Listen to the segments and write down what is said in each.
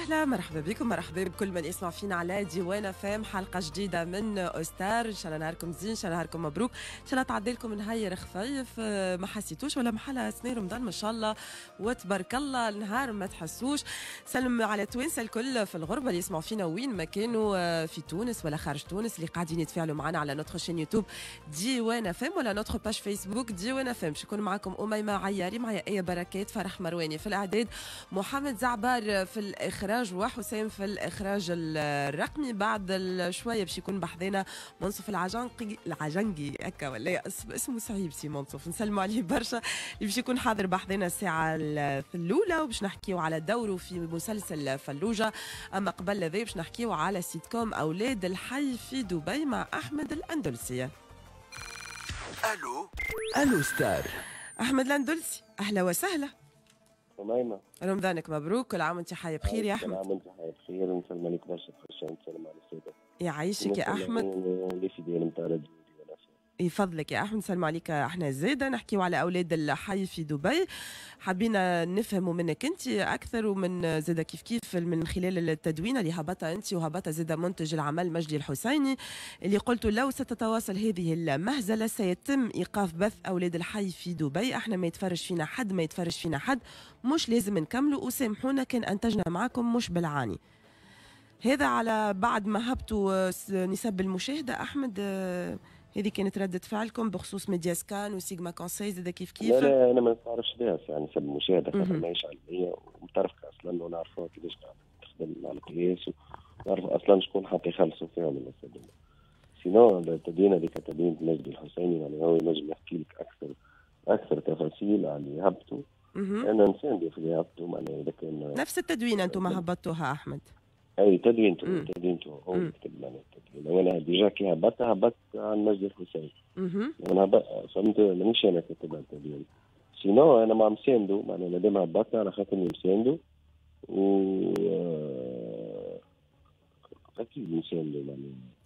وسهلا، مرحبا بكم، مرحبا بكل من يسمع فينا على ديوان فام. حلقة جديدة من أوستار. إن شاء الله نهاركم زين، إن شاء الله نهاركم مبروك، إن شاء الله تعدي لكم نهار خفيف ما حسيتوش ولا محلها سنة رمضان ما شاء الله وتبارك الله النهار ما تحسوش. سلم على توانسة الكل في الغربة اللي يسمعوا فينا وين ما كانوا، في تونس ولا خارج تونس، اللي قاعدين يتفاعلوا معنا على notre chaîne YouTube ديوان فام ولا notre page Facebook ديوان فام. باش يكون معكم أميمة عياري، معايا آية بركات، فرح مرواني في الإعداد، محمد زعبار في الإخراج، وحسام في الإخراج الرقمي. بعد شوية باش يكون بحذانا منصف العجنقي، العجنقي هكا ولا اسمه صعيب سي منصف، نسلموا عليه برشا، اللي باش يكون حاضر بحذانا الساعة الأولى وباش نحكيو على دوره في مسلسل فلوجة. أما قبل ذا باش نحكيو على سيتكوم أولاد الحي في دبي مع أحمد الأندلسي. ألو ألو ستار. أحمد الأندلسي، أهلا وسهلا. أميمة، رمضانك مبروك، كل عام وانت حي بخير يا أحمد. كل عام وانت حي بخير، ونسلم عليك برشا برشا، ونسلم على السادة. يعيشك يا أحمد. les fidèles نتاع راديو. يفضلك يا أحمد، نسلم عليك. احنا زاده نحكيو على أولاد الحي في دبي، حبينا نفهموا منك أنت أكثر ومن زاده كيف كيف من خلال التدوين اللي هبطها أنت وهبطها زاده منتج العمل مجدي الحسيني، اللي قلت لو ستتواصل هذه المهزلة سيتم إيقاف بث أولاد الحي في دبي. احنا ما يتفرج فينا حد، ما يتفرج فينا حد، مش لازم نكملوا، وسامحونا كان أنتجنا معكم مش بالعاني. هذا على بعد ما هبطوا نسب المشاهدة. أحمد، هذه كانت ردة فعلكم بخصوص ميديا سكان وسيجما كونساي زاد كيف كيف؟ لا لا، انا ما نعرفش بها يعني نسب المشاهدة، خاطر ماهيش علمية ومترفقه اصلا، ونعرفوها كيفاش قاعدة تخدم على القياس، ونعرف اصلا شكون حتى يخلصوا فيها من الناس. sinon التدوين هذيك تدوين مجدي الحسيني، يعني هو ينجم يحكي لك اكثر تفاصيل على اللي هبطوا. انا نساندي في اللي هبطوا، معناها اذا كان نفس التدوين انتم هبطتوها احمد؟ اي تدوينته هو كتب لنا التدوين، وانا déjà كي هبطت عن مجدي الحسين. انا فهمت، مانيش انا كتب التدوين، sinon انا مع مساندو، معناها مادام هبطت على خاطر مساندو، و اكيد مساندو معناها.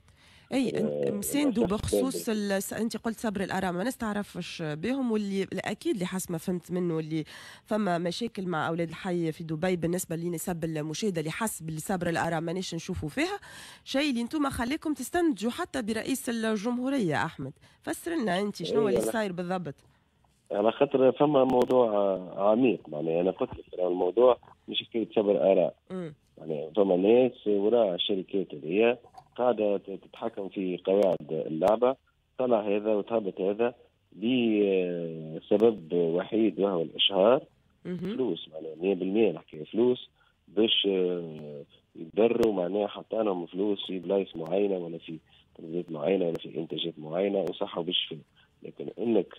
اي مساندو بخصوص انت قلت صبر الاراء ما نستعرفش بهم، واللي اكيد اللي حسب ما فهمت منه اللي فما مشاكل مع اولاد الحي في دبي بالنسبة لنسب المشاهدة اللي حسب صبر الاراء مانيش نشوفوا فيها شيء اللي انتم خليكم تستنتجوا حتى برئيس الجمهورية. احمد، فسر لنا انت شنو اللي صاير بالضبط. على خاطر فما موضوع عميق، معناها انا قلت لك الموضوع مش حكاية صبر اراء، يعني فما ناس وراء الشركات هذيا قاعدة تتحكم في قواعد اللعبة، طلع هذا وتهبط هذا لسبب وحيد وهو الإشهار. فلوس، معناها 100% نحكي فلوس، باش يضروا معناها حطانهم فلوس في بلايص معينة ولا في تنظيمات معينة ولا في إنتاجات معينة وصحوا باش. لكن إنك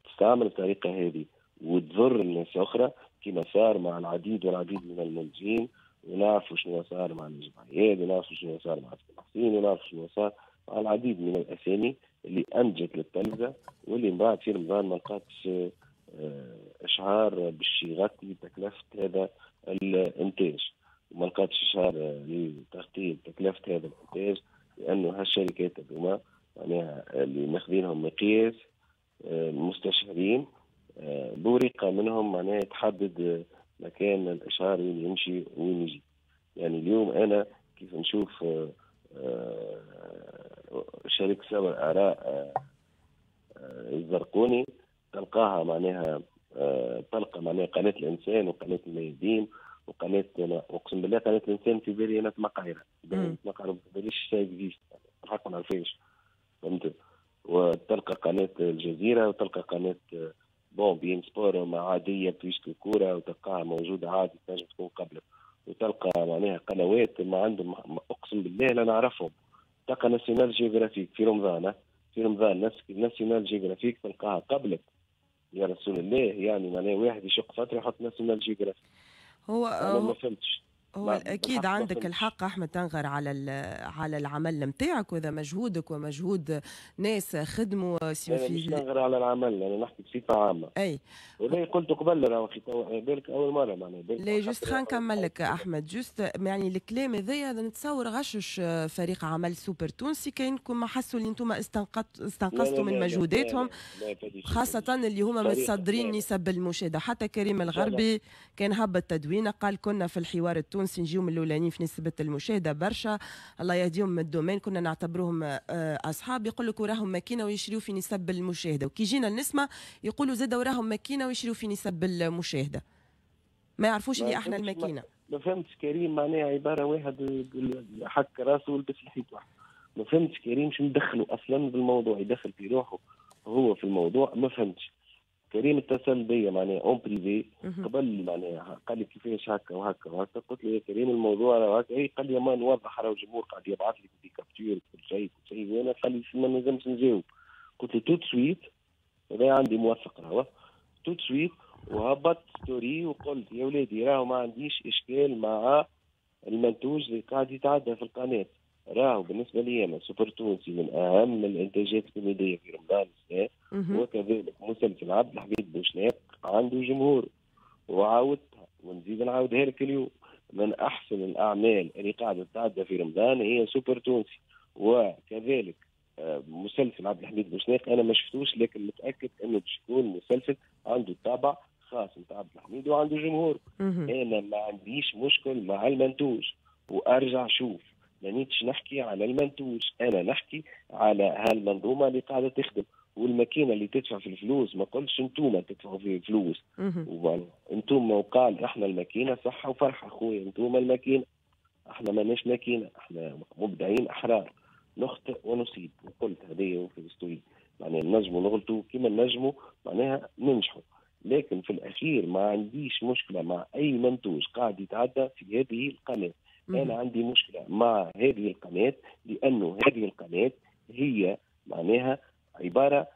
تستعمل الطريقة هذه وتضر الناس أخرى كما صار مع العديد والعديد من المنتجين، ونعرفوا شنو صار مع نجم عياد، ونعرفوا شنو صار مع حسين، ونعرفوا شنو صار مع العديد من الاسامي اللي انجت للتلفزه واللي من بعد في رمضان ما لقاتش اشعار باش يغطي تكلفة هذا الانتاج، وما لقاتش اشعار لتغطيه تكلفة هذا الانتاج، لانه هالشركات هذوما معناها اللي ماخذينهم مقياس مستشهرين بورقه منهم معناها تحدد مكان الاشهار وين يمشي وين يجي. يعني اليوم انا كيف نشوف شركة سبع اراء الزرقوني تلقاها معناها تلقى معناها قناة الانسان وقناة الميادين وقناة، اقسم بالله قناة الانسان في بالي انا تمقعيره، تمقعيره ما باليش ça existe الحق ما نعرفهاش، فهمت؟ وتلقى قناة الجزيرة وتلقى قناة bon beIN Sport ما عادية puisque كورة وتلقاها موجودة عادي تنجم تكون قبلك، وتلقى معناها قنوات ما عندهم اقسم بالله لا نعرفهم. تلقى National Geographic في رمضان، في رمضان National Geographic تلقاها قبلك يا رسول الله، يعني معناها واحد يشق فترة يحط National Geographic. هو أنا ما فهمتش. هو اكيد عندك الحق احمد تنغر على العمل نتاعك، وهذا مجهودك ومجهود ناس خدموا. في مش نغر على العمل، انا نحكي بصفة عامة. اي ولا قلت قبل راه بالك اول مرة معناها. لا juste خلينا نكمل لك احمد، juste يعني الكلام هذايا نتصور غشش فريق عمل سوبر تونسي، كاينكم ما حسوا اللي انتم استنقصتوا من مجهوداتهم، خاصة اللي هما متصدرين نسب المشاهدة. حتى كريم الغربي كان هبط تدوينه قال كنا في الحوار التونسي التونسي نجيو من الاولانيين في نسبه المشاهدة برشا، الله يهديهم من ال domaine كنا نعتبروهم اصحاب، يقول لك وراهم ماكينة ويشريوا في نسب المشاهده، وكي جينا النسمه يقولوا زاد وراهم ماكينة ويشريوا في نسب المشاهده، ما يعرفوش اللي احنا الماكينة. ما فهمتش كريم، معناها عبارة واحد حك راسه ولبس الحيط واحد. ما فهمتش كريم شو مدخله اصلا بالموضوع، يدخل في روحه هو في الموضوع. ما فهمتش كريم اتصل بيا معناها en privé قبل، معناها قال لي كيفاش هكا وهكا وهكا، قلت له يا كريم الموضوع راه هكا، قال لي ما نوضح، راه الجمهور قاعد يبعث لي des captures كل شيء كل شيء، وانا قال لي ما نجمش نجاوب. قلت له tout de suite، هذا عندي موثق راهو، tout de suite وهبطت story وقلت يا ولادي راهو ما عنديش اشكال مع المنتوج اللي قاعد يتعدى في القناه، راهو بالنسبة لي انا سوبر تونسي من اهم الانتاجات الكوميدية في رمضان السنه، وكذلك مسلسل عبد الحميد بوشناق عنده جمهور، وعاودتها ونزيد نعاودها لك اليوم، من احسن الاعمال اللي قاعدة تتعدى في رمضان هي سوبر تونسي، وكذلك مسلسل عبد الحميد بوشناق انا ما شفتوش لكن متاكد انه باش يكون مسلسل عنده طابع خاص نتاع عبد الحميد وعنده جمهور. انا ما عنديش مشكل مع المنتوج، وارجع شوف مانيتش نحكي على المنتوج، انا نحكي على هالمنظومه اللي قاعدة تخدم والماكينه اللي تدفع في الفلوس. ما قلتش انتوما تدفعوا في فلوس، انتوما وقال احنا الماكينه، صحة وفرحه خويا، انتوما الماكينه، احنا ماناش ماكينه، احنا مبدعين احرار نخطئ ونصيب، وقلت هذه في ال story، معناها نجموا نغلطوا كما نجموا معناها ننجحوا، لكن في الاخير ما عنديش مشكلة مع اي منتوج قاعد يتعدى في هذه القناه. انا عندي مشكلة مع هذه القناة لانه هذه القناة هي معناها عبارة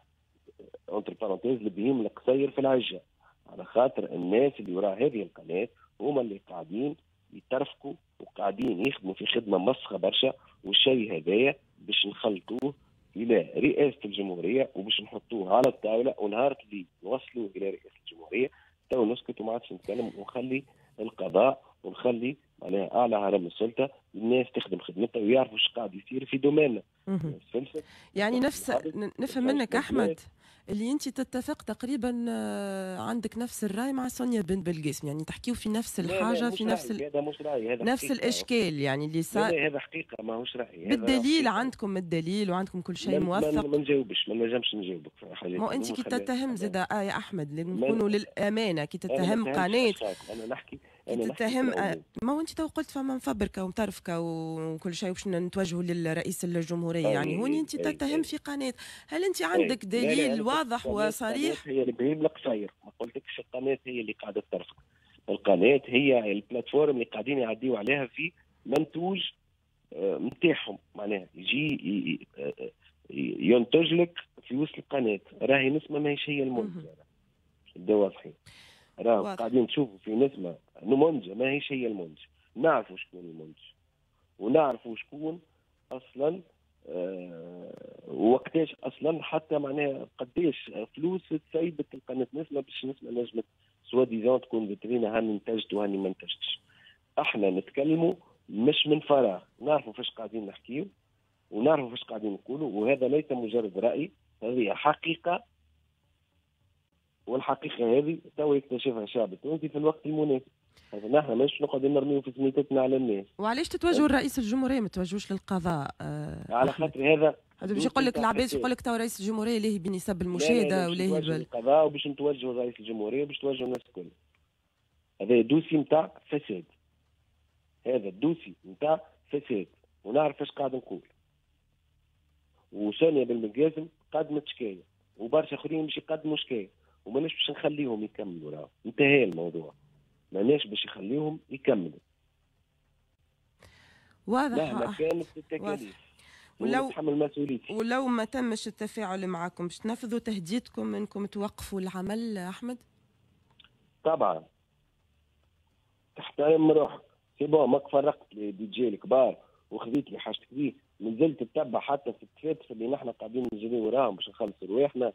entre parenthèses البهيم القصير في العجه، على خاطر الناس اللي وراء هذه القناة هما اللي قاعدين يترفقوا وقاعدين يخدموا في خدمة مسخه برشا، والشيء هذايا باش نخلطوه الى رئاسة الجمهورية وباش نحطوه على الطاولة، ونهار اللي نوصلوه الى رئاسة الجمهورية تو نسكت وما عادش نتكلم، ونخلي القضاء ونخلي معناها اعلى هرم السلطة الناس تخدم خدمتها ويعرفوا ايش قاعد يصير في domaine نا. يعني نفس نفهم منك احمد اللي انت تتفق تقريبا، عندك نفس الراي مع سونيا بن بالقاسم، يعني تحكيو في نفس الحاجة. لا لا، في نفس هذا مش راي، هذا نفس الاشكال يعني اللي صار. هذا حقيقة ماهوش راي. بالدليل، عندكم الدليل وعندكم كل شيء موثق. ما نجاوبش، ما نجمش نجاوبك في حاجات. ما انت كي تتهم زاد يا احمد، نكونوا للامانة كي تتهم قناه، انا نحكي كي تتهم، ما هو انت تو قلت فما مفبركه ومترفكه وكل شيء باش نتوجهوا للرئيس الجمهوريه، يعني هوني انت تتهم في قناه، هل انت عندك دليل واضح وصريح؟ هي البهيم القصير، ما قلتلكش القناة هي اللي قاعدة ترفق، القناة هي ال plateforme اللي قاعدين يعديوا عليها في منتوج نتاعهم، معناها يجي ينتج لك في وسط القناه، راهي نسمه ماهيش هي المنتجه، نبداو واضحين، راهو قاعدين نشوفوا في نسمه منتجه ماهيش هي المنتج، نعرفوا شكون المنتج ونعرفوا شكون اصلا وقتاش اصلا، حتى معناها قداش فلوس تسيبت القناة نسمه باش نسمه نجمت soi-disant تكون فيترينا، هاني انتجت وهاني ما انتجتش. احنا نتكلموا مش من فراغ، نعرفوا فاش قاعدين نحكيو ونعرفوا فاش قاعدين نقولوا، وهذا ليس مجرد راي، هذه حقيقة، والحقيقة هذه تو يكتشفها الشعب التونسي في الوقت المناسب. هذا نحن مش نقعد نرميو في سميتنا على الناس. وعلاش تتوجهوا لرئيس الجمهورية ما تتوجهوش للقضاء؟ على خاطر هذا هذا باش يقول لك العباد، يقول لك تو رئيس الجمهورية ليه بنسب المشاهدة وليه للقضاء، وباش نتوجهوا لرئيس الجمهورية وباش توجهوا الناس الكل. هذا dossier نتاع فساد، هذا ال dossier نتاع فساد، ونعرف ايش قاعد نقول. وسونيا بن قدمت شكاية وبرشا اخرين باش يقدموا شكاية، وماناش باش نخليهم يكملوا، راهو انتهى الموضوع، ماناش باش يخليهم يكملوا. واضح. مهما كانت التكاليف ولو ما تمش التفاعل معكم باش تنفذوا تهديدكم انكم توقفوا العمل احمد؟ طبعا تحترم روحك، c'est bon ماك فرقت les DJ الكبار وخذيت لي حاجتك بيه، مازلت تتبع حتى في التفاتف اللي نحن قاعدين نجري وراهم باش نخلصوا رواحنا.